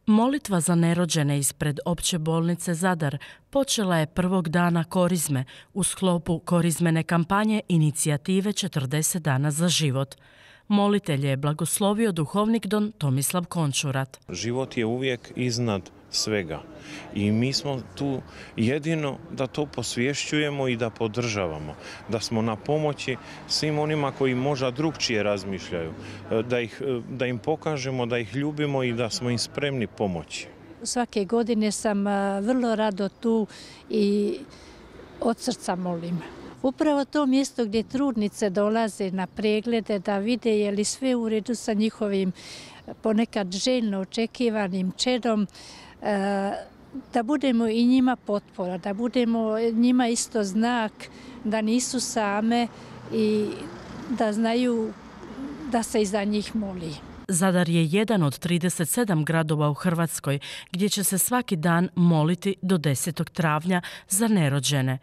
Molitva za nerođene ispred Opće bolnice Zadar počela je prvog dana Korizme u sklopu korizmene kampanje inicijative 40 dana za život. Molitelje je blagoslovio duhovnik don Tomislav Končurat. Život je uvijek iznad svega i mi smo tu jedino da to posvješćujemo i da podržavamo, da smo na pomoći svim onima koji možda drukčije razmišljaju, da im pokažemo da ih ljubimo i da smo im spremni pomoći. Svake godine sam vrlo rado tu i od srca molim. Upravo to mjesto gdje trudnice dolaze na preglede da vide je li sve u redu sa njihovim ponekad željno očekivanim čedom, da budemo i njima potpora, da budemo njima isto znak da nisu same i da znaju da se i za njih moli. Zadar je jedan od 37 gradova u Hrvatskoj gdje će se svaki dan moliti do 10. travnja za nerođene.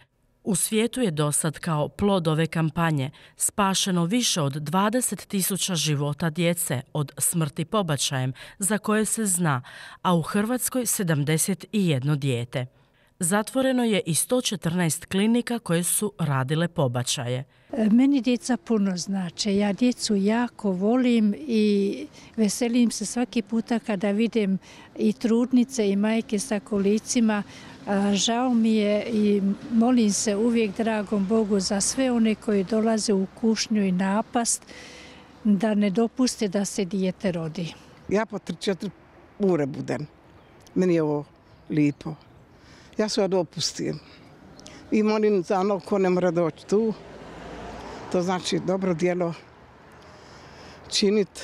U svijetu je dosad kao plod ove kampanje spašeno više od 20.000 života djece od smrti pobačajem za koje se zna, a u Hrvatskoj 71 dijete. Zatvoreno je i 114 klinika koje su radile pobačaje. Meni djeca puno znače. Ja djecu jako volim i veselim se svaki puta kada vidim i trudnice i majke sa kolicima. Žao mi je i molim se uvijek dragom Bogu za sve one koji dolaze u kušnju i napast da ne dopuste da se dijete rodi. Ja po 3-4 ure budem. Meni je ovo lijepo. Ja se odopustim i molim za ono ko ne mora doći tu. To znači dobro djelo činiti.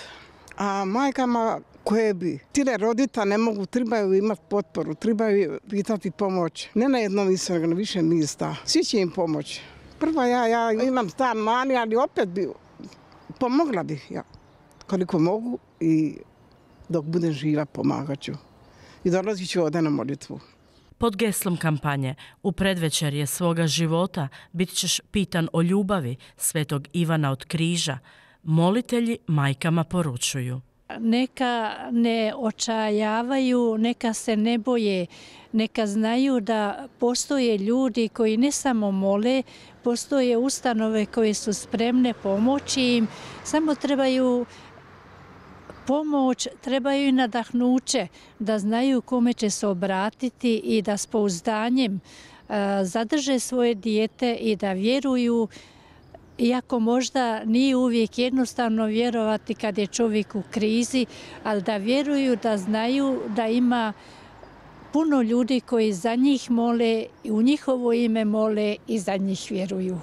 A majkama koje bi tile rodita ne mogu, trebaju imati potporu, trebaju pitati pomoć. Ne na jednom mjestu, nego na više mjesta. Svi će im pomoći. Prva ja imam stan mani, ali opet bi pomogla bih ja koliko mogu i dok budem živa pomagat ću. I dolazit ću ovdje na molitvu. Pod geslom kampanje U predvečerje svoga života bit ćeš pitan o ljubavi svetog Ivana od Križa, molitelji majkama poručuju. Neka ne očajavaju, neka se ne boje, neka znaju da postoje ljudi koji ne samo mole, postoje ustanove koje su spremne pomoći im, samo trebaju pomoć, trebaju i nadahnuće da znaju kome će se obratiti i da s pouzdanjem zadrže svoje dijete i da vjeruju, iako možda nije uvijek jednostavno vjerovati kad je čovjek u krizi, ali da vjeruju, da znaju da ima puno ljudi koji za njih mole i u njihovo ime mole i za njih vjeruju.